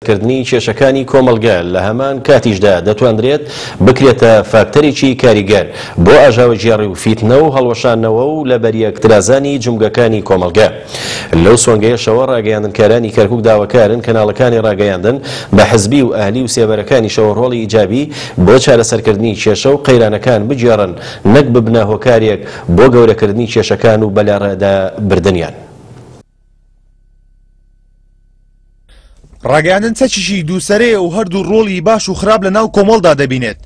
چارەسەرکردنی کێشەکانی کۆمەڵگە، لە هەمان کاتیشدا دەتواندرێت بکرێتە فاکتەرێکی کاریگەر بۆ ئاژاوەگێڕی و فیتنە و هەڵوەشاندنەوە و لەبەریەکترازانی جومگەکانی کۆمەڵگە. لەو سۆنگەیەشەوە ڕاگەیاندنکارانی کەرکوک داواکارن کەناڵەکانی ڕاگەیاندن بە حزبی و ئەهلی و سێبەرەکانیشەوە ڕۆڵی ئیجابی بۆ چارەسەرکردنی کێشە و قەیرانەکان بگێڕن نەک ببنە هۆکارێک بۆ گەورەکردنی کێشەکان و بەلاڕێدا بردنیان. ڕاگەیاندن چەکێکی دووسەرەیە و هەردوو ڕۆڵی باش و خراپ لە ناو کۆمەڵدا دەبینێت،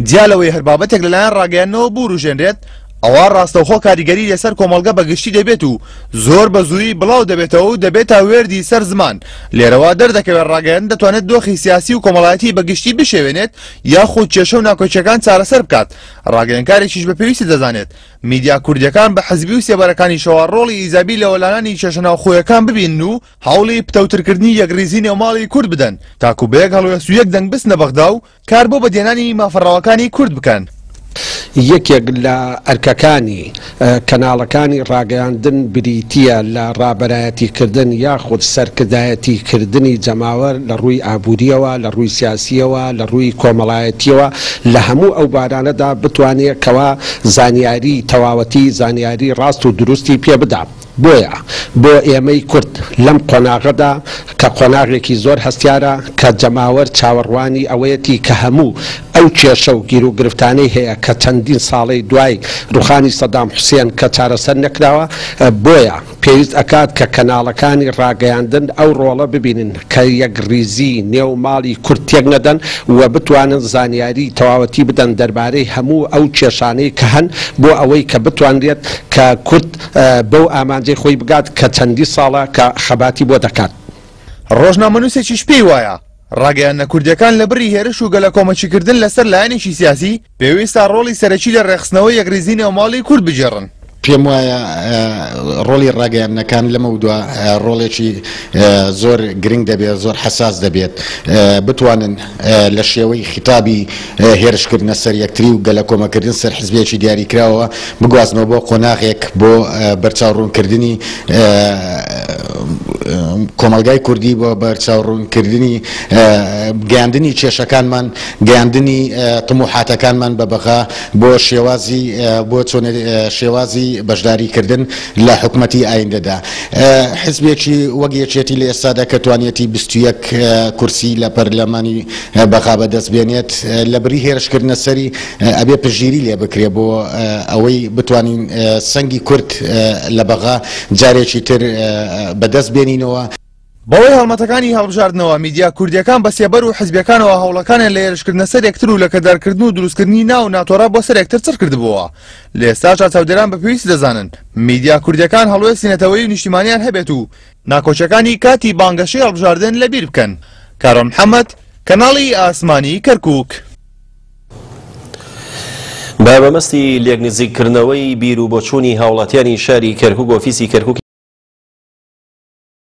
جیا لەوەی هەر بابەتێک لەلایەن ڕاگەیاندنەوە بوروژێنرێت ئەوا ڕاستەوخۆ کاریگەری لەسەر کۆمەڵگە بە گشتی دەبێت و زۆر بە زوویی بڵاو دەبێتەوە و دەبێتە وێردی سەر زمان، لێرەوە دەردەکەوێت ڕاگەیاندن دەتوانێت دۆخی سیاسی و کۆمەڵایەتی بە گشتی بشێوێنێت یاخود کێشە و ناکۆکییەکان چارەسەر بکات، ڕاگەیەنکارێکیش بە پێویستی دەزانێت میدیا کوردییەکان بە حزبی و سێبەرەکانیشەوە ڕۆڵی ئیجابی لە وەلانانی کێشە ناوخۆیەکان ببینن و هەوڵی پتەوترکردنی یەکڕیزی نێوماڵی کورد بدەن تاکو بە یەک هەڵوێست و یەک دەنگ بچنە بەغدا و کار بۆ بەدیهێنانی مافە ڕەواکانی کورد بکەن. یەکێک لە ئەرکەکانی کەناڵەکانی ڕاگەیاندن بریتییە لە ڕابەرایەتیکردن یاخود سەرکردایەتیکردنی جەماوەر لە ڕووی ئابوورییەوە، لە ڕووی سیاسییەوە، لە ڕووی کۆمەڵایەتییەوە، لە هەموو ئەو بارانەدا بتوانێ کەوا زانیاری تەواوەتی، زانیاری ڕاست و دروستی پێ بدا. بۆیە بۆ ئێمەی کورد لەم قۆناغەدا کە قۆناغێکی زۆر هەستیارە کە جەماوەر چاوەڕوانی ئەوەیەتی کە هەموو ئەو کێشە و گیروگرفتانەی هەیە کە چەندین ساڵەی دوای ڕوخانی سەدام حوسێن کە چارەسەر نەکراوە بۆیە پێویست ئەکات کە کەناڵەکانی ڕاگەیاندن ئەو ڕۆڵە ببینن کە یەکڕیزی نێو ماڵی کورد تێک نەدەن و بتوانن زانیاری تەواوەتی بدەن دەربارەی هەموو ئەو کێشانەی کە هەن بۆ ئەوەی کە بتوانرێت کە کورد بەو ئامانجەی خۆی بگات کە چەندی ساڵە کە خەباتی بۆ دەکات. ڕۆژنامەنووسێکیش پێی وایە، ڕاگەیاندنە کوردییەکان لە بری هێرش و گەلەکۆمەکیکردن لەسەر لایەنێکی سیاسی، پێویستە ڕۆڵی سەرەکی لە ڕێکخستنەوەی یەکڕیزی نێوماڵی کورد بگێڕن. پێم وایە ڕۆڵی ڕاگەیاندنەکان لەمەودوا ڕۆڵێکی زۆر گرنگ دەبێت، زۆر حەساس دەبێت، بتوانن لە شێوەی خیتابی هێرشکردنە سەر یەکتری و گەلەکۆمەکردن سەر حزبێکی دیاریکراوە بگوازنەوە بۆ قۆناغێک بۆ بەرچاوڕوونکردنی کۆمەڵگای کوردی بۆ بەرچاوڕوونکردنی گەیاندنی کێشەکانمان گەیاندنی تموحاتەکانمان بە بەغا بۆ شێوازی بۆ شێوازی بەشداریکردن لە حکومەتی ئایندەدا. حزبێکی وەک یەکێتی لە ئێستادا کە توانیەتی 21 کورسی لە پەرلەمانی بەغا بەدەست بێنێت، لەبری هێرشکردنە سەری ئەبێ پشتگیری لێ بکرێ بۆ ئەوەی بتوانین سەنگی کورد لە بەغا جارێکی تر بەدەست بێنینەوە. بەهۆی هەڵمەتەکانی هەڵبژاردنەوە، میدیا کوردییەکان بە سێبەر و حزبییەکانەوە هەوڵەکانیان لە هێرشکردنە سەر یەکتر و لەکەدارکردن و دروستکردنی ناو و ناتۆرە بۆ سەر یەکتر چڕ کردبووەوە. لە ئێستاشدا چاودێران بە پێویستی دەزانن میدیا کوردییەکان هەڵوێستی نەتەوەیی و نیشتیمانیان هەبێت و ناکۆکییەکانی کاتی بانگەشەی هەڵبژاردن لەبیر بکەن. کاروان محەمەد، کەناڵی ئاسمانی کەرکوک. بە مەبەستی لێکنزیککردنەوەی بیر و بۆچوونی هاوڵاتیانی شاری کەرکوک ئۆفیسی کەرکوک.